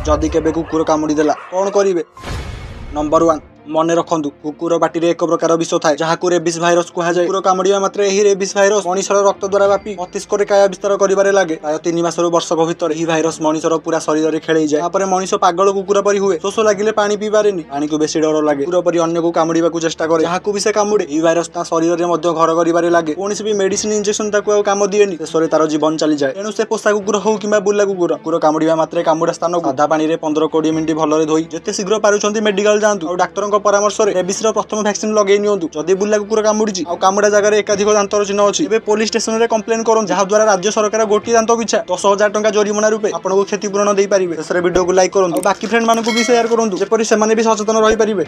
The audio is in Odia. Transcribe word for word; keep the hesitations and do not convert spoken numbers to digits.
ଯଦି କେବେ କୁକୁର କାମୁଡ଼ି ଦେଲା କ'ଣ କରିବେ? ନମ୍ବର ୱାନ୍, ମନେ ରଖନ୍ତୁ, କୁକୁର ପାଟିରେ ଏକ ପ୍ରକାର ବିଷ ଥାଏ, ଯାହାକୁ ରେବିସ୍ ଭାଇରସ କୁହାଯାଏ। କୁକୁର କାମୁଡ଼ିବା ମାତ୍ରେ ଏହି ରେବିସ୍ ଭାଇରସ ମଣିଷର ରକ୍ତ ଦ୍ୱାରା ବ୍ୟାପି ମସ୍ତିଷ୍କରେ କାୟା ବିସ୍ତାର କରିବାରେ ଲାଗେ। ପ୍ରାୟ ତିନି ମାସରୁ ବର୍ଷକ ଭିତରେ ଏହି ଭାଇରସ ମଣିଷର ପୁରା ଶରୀରରେ ଖେଳେଇଯାଏ। ତାପରେ ମଣିଷ ପାଗଳ କୁକୁର ପରି ହୁଏ। ଶୋଷ ଲାଗିଲେ ପାଣି ପିଇପାରେନି, ପାଣିକୁ ବେଶୀ ଡର ଲାଗେ, କୁକୁର ପରି ଅନ୍ୟକୁ କାମୁଡ଼ିବାକୁ ଚେଷ୍ଟା କରେ। ଯାହାକୁ ବି ସେ କାମୁଡ଼େ, ଏହି ଭାଇରସ ତା ଶରୀରରେ ମଧ୍ୟ ଘର କରିବାରେ ଲାଗେ। କୌଣସି ବି ମେଡିସିନ, ଇଞ୍ଜେକ୍ସନ ତାକୁ ଆଉ କାମ ଦିଏନି। ଶେଷରେ ତାର ଜୀବନ ଚାଲିଯାଏ। ତେଣୁ ସେ ପୋଷା କୁକୁର ହଉ କିମ୍ବା ବୁଲା କୁକୁର, କୁକୁର କାମୁଡ଼ିବା ମାତ୍ରେ କାମୁଡ଼ା ସ୍ଥାନକୁ ସାଧା ପାଣିରେ ପନ୍ଦର କୋଡ଼ିଏ ମିନିଟ୍ ଭଲରେ ଧୋଇ ଯେତେ ଶୀଘ୍ର ପାରୁଛନ୍ତି ମେଡିକାଲ ଯାଆନ୍ତୁ ଆଉ ଡାକ୍ତରଙ୍କ ପରାମର୍ଶରେ ରେବିସ୍ର ପ୍ରଥମ ଭ୍ୟାକ୍ସିନ ଲଗେଇ ନିଅନ୍ତୁ। ଯଦି ବୁଲା କୁକୁର କାମୁଡ଼ିଛି ଆଉ କାମୁଡ଼ା ଜାଗାରେ ଏକାଧିକ ଦାନ୍ତର ଚିହ୍ନ ଅଛି, ଏବେ ପୋଲିସ ଷ୍ଟେସନରେ କମ୍ପ୍ଲେନ କରନ୍ତୁ, ଯାହାଦ୍ୱାରା ରାଜ୍ୟ ସରକାର ଗୋଟିଏ ଦାନ୍ତ ପିଛା ଦଶ ହଜାର ଟଙ୍କା ଜରିମାନା ରୂପେ ଆପଣଙ୍କୁ କ୍ଷତିପୂରଣ ଦେଇପାରିବେ। ଶେଷରେ ଭିଡ଼ିଓକୁ ଲାଇକ୍ କରନ୍ତୁ ଆଉ ବାକି ଫ୍ରେଣ୍ଡ ମାନଙ୍କୁ ବି ସେୟାର କରନ୍ତୁ, ଯେପରି ସେମାନେ ବି ସଚେତନ ରହିପାରିବେ।